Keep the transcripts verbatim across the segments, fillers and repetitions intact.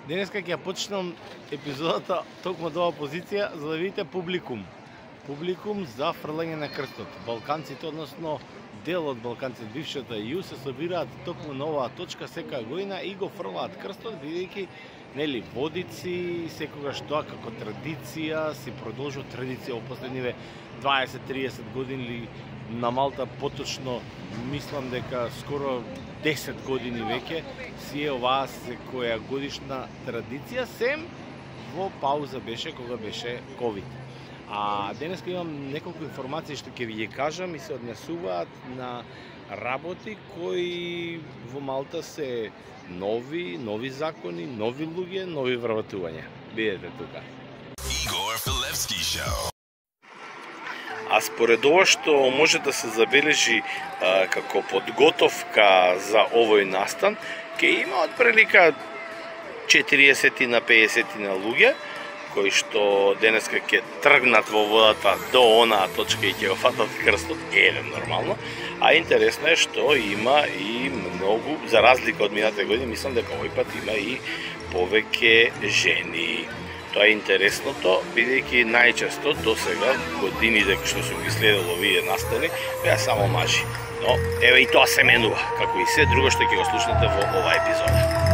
Денеска ќе ја почнам епизодата токму од оваа позиција за да видите публикум. Публикум за фрлање на крстот. Балканците, односно дел од балканците, бившата ју, се собираат токму на оваа точка секоја година и го фрлаат крстот, бидејќи нели водици секогаш тоа како традиција си продолжува традиција во последниве дваесет триесет години, на Малта поточно мислам дека скоро десет години веќе си е оваа секоја годишна традиција, сем во пауза беше кога беше ковид. А денеска имам неколку информации што ќе ви ги кажам и се однесуваат на работи кои во Малта се нови, нови закони, нови луѓе, нови вработувања. Бидете тука. Игор Филевски шоу. А според ова што може да се забележи а, како подготовка за овој настан, ќе има отприлика четириесет на пеесет на луѓе кои што денеска ќе тргнат во водата до онаа точка и ќе го фатат крстот, еден нормално. А интересно е што има и многу, за разлика од минатите години, мислам дека овој пат има и повеќе жени. Тоа е интересното, бидејќи најчесто до сега годините што сум ги следел овие настани беа само мажи. Но еве и тоа се менува, како и се друго што ќе го слушнете во оваа епизода.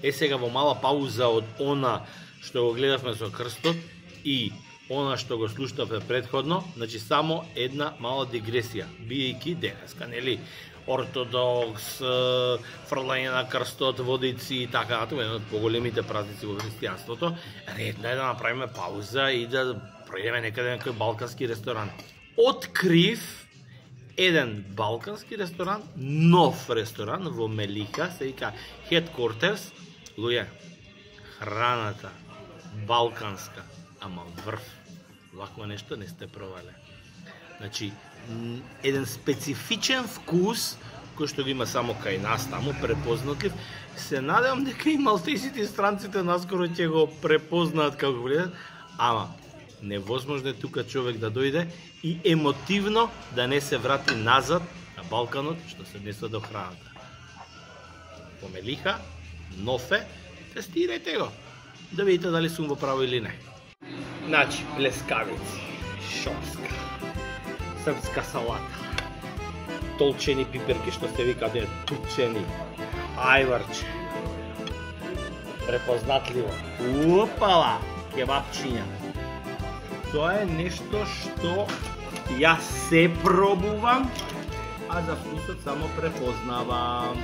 Е сега во мала пауза од она што го гледавме со крстот и она што го слушнавме претходно, значи само една мала дигресија, биејќи денеска, нели, ортодокс, фрлање на крстот, водици и така натаму, еден од поголемите празници во христијанството, редно е да направиме пауза и да пројдеме некаде некој балкански ресторан. Открив еден балкански ресторан, нов ресторан во Мелиха, се вика Headquarters. Луѓе, храната балканска, ама врв, вакво нешто не сте пробале. Значи, еден специфичен вкус кој што го има само кај нас таму, препознатлив. Се надевам дека и малтесите и странците наскоро ќе го препознаат како гледат, ама невозможно е тука човек да дојде и емотивно да не се врати назад на Балканот, што се однесува до храната. По Мелиха, нов е, тестирајте го, да видите дали сум во право или не. Значи, плескавици, шопска, српска салата, толчени пиперки што се викаат тучени, ајварче, препознатливо, упала, кебапчиња. Тоа е нешто што јас се пробувам, а за вкусот само препознавам.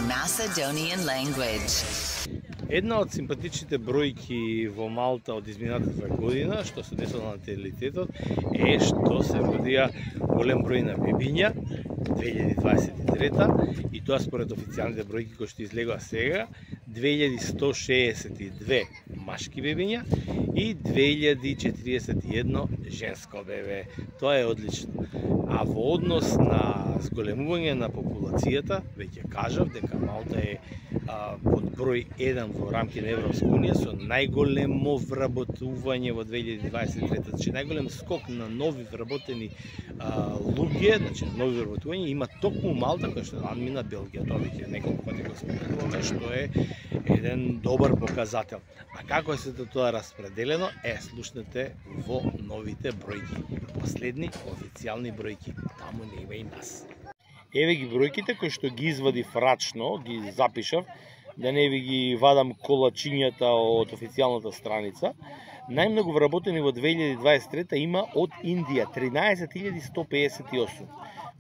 Macedonian language. Една од симпатичните бројки во Малта од изминатата година, што се десува на наталитетот, е што се родија голем број на бебиња две илјади дваесет и трета и тоа според официјалните бројки кои што излегува сега, две илјади сто шеесет и две машки бебиња и две илјади четириесет и едно женско бебе, тоа е одлично. А во однос на зголемување на популацијата, веќе кажав дека Малта е а, под број еден во рамки на Европска унија со најголемо вработување во две илјади дваесет и трета. Значи најголем скок на нови вработени а, луѓе, значи нови вработување има токму Малта, која што надмина Белгија. Тоа веќе неколку пати го споменуваме, што е еден добар показател. А како е сето тоа распределено? Е, слушнете во новите бројки. Последни официјални бројки. Таму не има и нас. Еве ги бројките кои што ги извадив рачно, ги запишав, да не ви ги вадам колачињата од официјалната страница. Најмногу вработени во две илјади дваесет и трета има од Индија, тринаесет илјади сто пеесет и осум.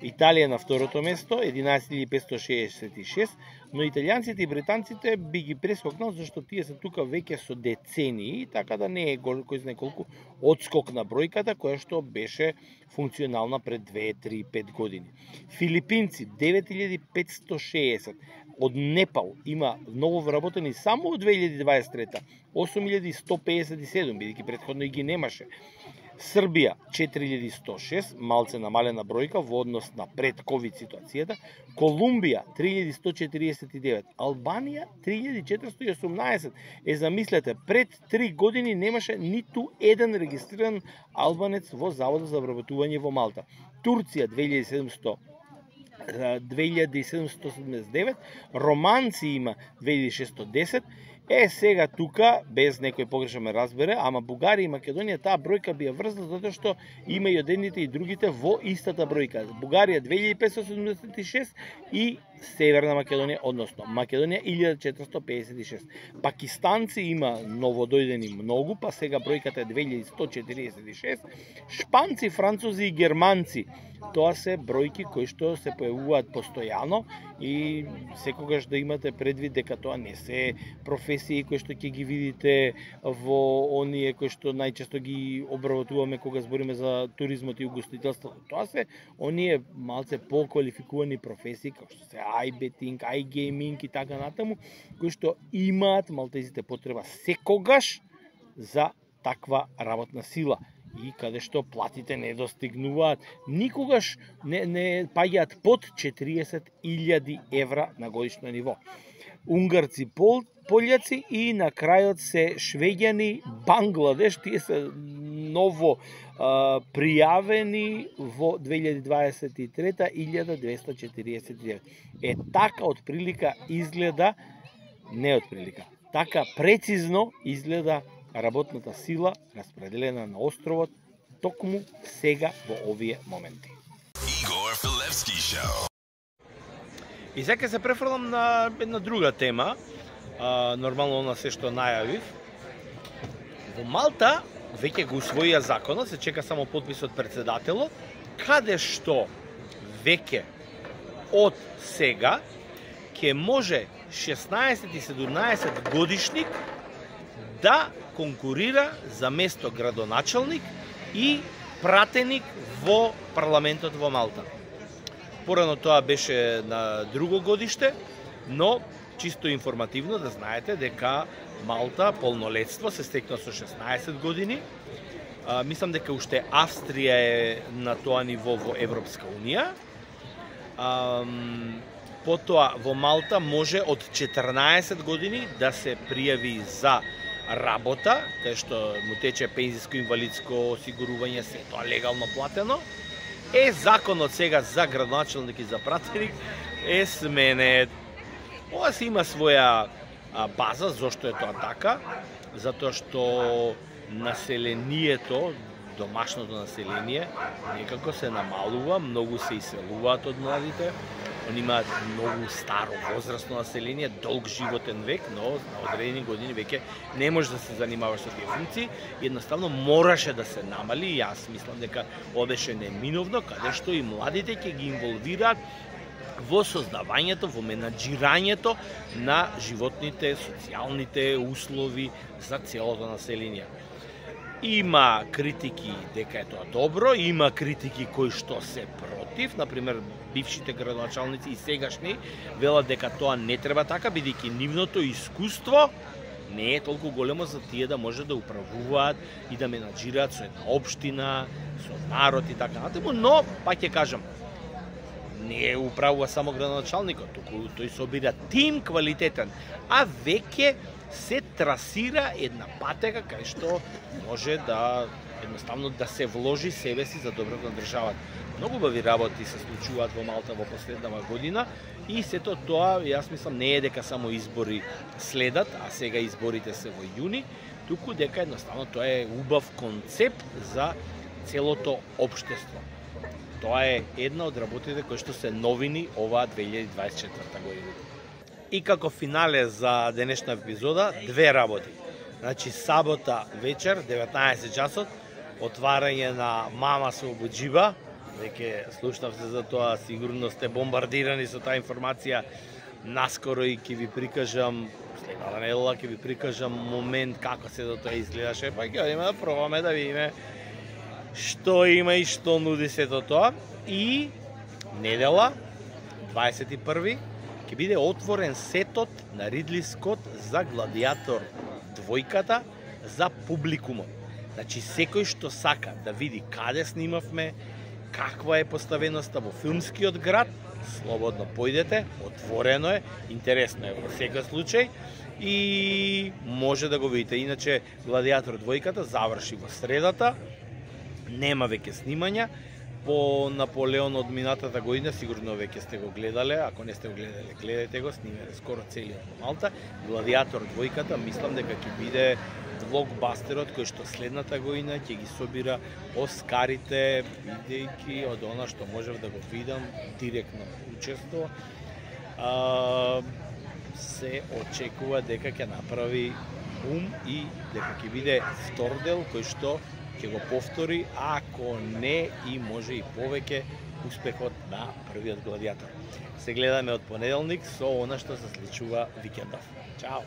Италија на второто место, единаесет илјади петстотини шеесет и шест, но италијанците и британците би ги прескокнал, зашто тие се тука веќе со децении, така да не е кој знае колку одскок на бројката, која што беше функционална пред две, три, пет години. Филипинци, девет илјади петстотини шеесет. Од Непал има ново вработени само од две илјади дваесет и трета, осум илјади сто пеесет и седум, бидејќи претходно и ги немаше. Србија четири илјади сто и шест, малце намалена бројка во однос на пред ковид ситуацијата. Колумбија три илјади сто четириесет и девет, Албанија три илјади четиристотини и осумнаесет. Е, замислете, пред три години немаше ниту еден регистриран албанец во Заводот за вработување во Малта. Турција две илјади седумстотини седумдесет и девет, романци има две илјади шестоста и десет. Е, сега тука, без некој погрешно ме разбере, ама Бугарија и Македонија таа бројка би ја врзна затоа што има и одедните и другите во истата бројка. Бугарија две илјади петстотини седумдесет и шест и Северна Македонија, односно Македонија илјада четиристотини пеесет и шест. Пакистанци има новодојдени многу, па сега бројката е две илјади сто четириесет и шест. Шпанци, французи и германци, тоа се бројки кои што се појавуваат постојано и секогаш да имате предвид дека тоа не се професии кои што ќе ги видите во оние кои што најчесто ги обработуваме кога збориме за туризмот и угостителството. Тоа се оние малце поквалификувани професии како што се iBetting, iGaming и така натаму, кои што имаат малтезите потреба секогаш за таква работна сила и каде што платите не достигнуваат, никогаш не, не паѓаат под четириесет илјади евра на годишно ниво. Унгарци, пол, пољаци и на крајот се швеѓани, Бангладеш, тие се ново а, пријавени во две илјади дваесет и трета илјада двесте четириесет и девет. Е, така од прилика изгледа, не од прилика, така прецизно изгледа работната сила распределена на островот токму сега во овие моменти. Igor Filevski Show. И сега се префрлам на една друга тема, а, нормално на се што најавив. Во Малта веќе го усвоија законот, се чека само подпис од председателот, каде што веќе од сега ќе може шеснаесет и седумнаесет годишник да конкурира за место градоначалник и пратеник во парламентот во Малта. Порано тоа беше на друго годиште, но чисто информативно да знаете дека Малта полнолетство се стекна со шеснаесет години. А, мислам дека уште Австрија е на тоа ниво во Европска унија. А, потоа во Малта може од четрнаесет години да се пријави за работа, кај што му тече пензиско-инвалидско осигурување, се тоа легално платено. Е, законот сега за градоначалник и за пратеник е сменет. Ова се има своја а, база, зошто е тоа така? Затоа што населението, домашното население, некако се намалува, многу се иселуваат од младите. Они имаат многу старо возрастно население, долг животен век, но на одредени години веќе не може да се занимаваш со тие функции. Едноставно мораше да се намали. Јас мислам дека ова беше неминовно, каде што и младите ќе ги инволвираат во создавањето, во менаџирањето на животните, социјалните услови за целото население. Има критики дека е тоа добро, има критики кои што се против, например бившите градоначалници и сегашни велат дека тоа не треба така, бидејќи нивното искуство не е толку големо за тие да може да управуваат и да менаџираат со една општина, со народ и така натаму, но пак ќе кажам, не управува само градоначалникот, туку тој собира тим квалитетен, а веќе се трасира една патека кај што може да едноставно да се вложи себе си за доброто на државата. Многу убави работи се случуваат во Малта во последнава година и сето тоа, јас мислам, не е дека само избори следат, а сега изборите се во јуни, туку дека едноставно тоа е убав концепт за целото општество. Тоа е една од работите кои што се новини оваа две илјади дваесет и четврта година. И како финале за денешна епизода, две работи. Значи, сабота вечер, деветнаесет часот, отварање на Мама со Буџиба. Веќе слушнавте за тоа, сигурно сте бомбардирани со таа информација. Наскоро и ќе ви прикажам, следната недела ќе ви прикажам момент како се до тоа изгледаше, па ќе одиме да пробаме да видиме што има и што нуди сето тоа. И недела, дваесет и први, ќе биде отворен сетот на Ридли Скот за Гладиатор двојката за публикумот. Значи, секој што сака да види каде снимавме, каква е поставеноста во филмскиот град, слободно појдете, отворено е, интересно е во секој случај и може да го видите. Иначе, Гладиатор двојката заврши во средата, нема веќе снимања. По Наполеон од минатата година, сигурно веќе сте го гледале, ако не сте го гледале, гледате го, снимале скоро целиот во Малта. Гладиатор двојката, мислам дека ќе биде блокбастерот кој што следната година ќе ги собира Оскарите, бидејќи од она што можев да го видам директно учество, а, се очекува дека ќе направи бум и дека ќе биде втор дел кој што ќе го повтори, ако не и може и повеќе успехот на првиот Гладиатор. Се гледаме од понеделник со она што се случува викендов. Чао!